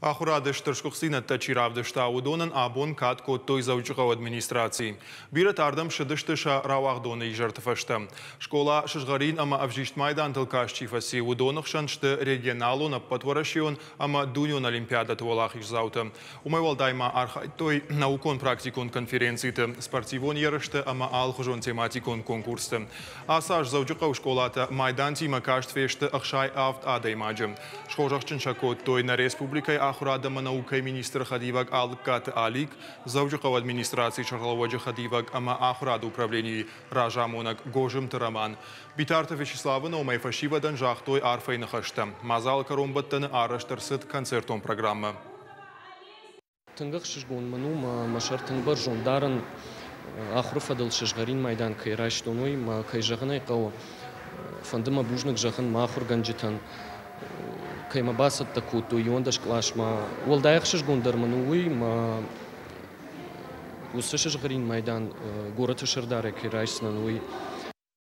Ахуырады стыр сгуыхтдзинӕдтӕ чи равдыста, уыдонӕн абон кад кодтой Дзӕуджыхъӕуы администрацийы. Бирӕтӕ ардӕм ссыдысты сӕ рауагъдоны изӕрты фӕстӕ. Скъола сызгъӕрин ӕмӕ ӕвзист майдантыл каст чи фӕци, уыдоны хсӕн сты регионалон, ӕппӕтуӕрӕсеон ӕмӕ дунеон олимпиадӕты уӕлахиздзаутӕ. Уымӕй уӕлдай ма архайдтой наукон-практикон конференциты, спортивон ерысты ӕмӕ алыхуызон тематикон конкурсты. Ацы аз Дзӕуджыхъӕуы скъолатӕ майдантимӕ каст фесты 67 адӕймаджы. Схорзӕхджын сӕ кодтой нӕ республикӕйы ахуырад ӕмӕ наукӕйы министры хӕдивӕг Алыккаты Алик, Дзӕуджыхъӕуы администрацийы сӕргълӕууӕджы хӕдивӕг ӕмӕ ахуырады управленийы разамонӕг Гозымты Роман. Битарты Вячеславы номӕй фӕсивӕдӕн загътой арфӕйы ныхӕстӕ. Мадзалы кӕронбӕттӕны арӕзт ӕрцыд концертон программӕ. Тынг ӕхсызгон мын у, мӕ сӕр тынг бӕрзонд дарын, ахуыры фӕдыл сызгъӕрин майдан кӕй райстон, уый мӕ, кӕй зӕгъын ӕй хъӕуы, фӕнды мӕ бузныг зӕгъын мӕ ахуыргӕнджытӕн, кӕй мӕ бацӕттӕ кодтой 11 къласмӕ. Уӕлдай ӕхсызгондӕр мын у уый, мӕ уыцы сызгъӕрин майдан горӕты сӕрдарӕй кӕй райсдзынӕн, уый.